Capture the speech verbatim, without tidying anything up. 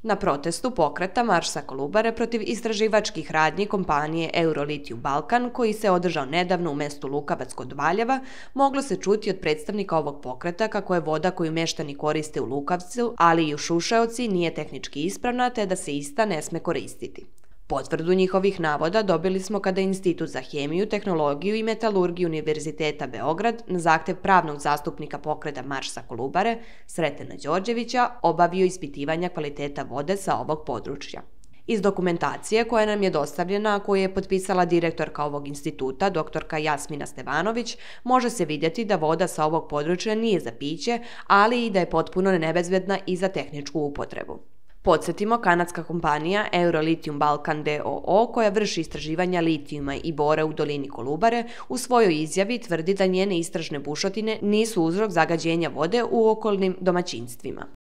Na protestu pokreta Marš sa Kolubare protiv istraživačkih radnji kompanije Eurolithium Balkan, koji se održao nedavno u mestu Lukavac kod Valjeva, moglo se čuti od predstavnika ovog pokreta kako je voda koju meštani koriste u Lukavcu, ali i u Šušaoci, nije tehnički ispravna te da se ista ne sme koristiti. Potvrdu njihovih navoda dobili smo kada je Institut za hemiju, tehnologiju i metalurgiju Univerziteta Beograd na zahtev pravnog zastupnika pokreta Marš sa Kolubare, Sretena Đorđevića, obavio ispitivanja kvaliteta vode sa ovog područja. Iz dokumentacije koja nam je dostavljena, a koju je potpisala direktorka ovog instituta, doktorka Jasmina Stevanović, može se vidjeti da voda sa ovog područja nije za piće, ali i da je potpuno nebezbedna i za tehničku upotrebu. Podsjetimo, kanadska kompanija Eurolithium Balkan d o o, koja vrši istraživanja litijuma i bora u dolini Kolubare, u svojoj izjavi tvrdi da njene istražne bušotine nisu uzrok zagađenja vode u okolnim domaćinstvima.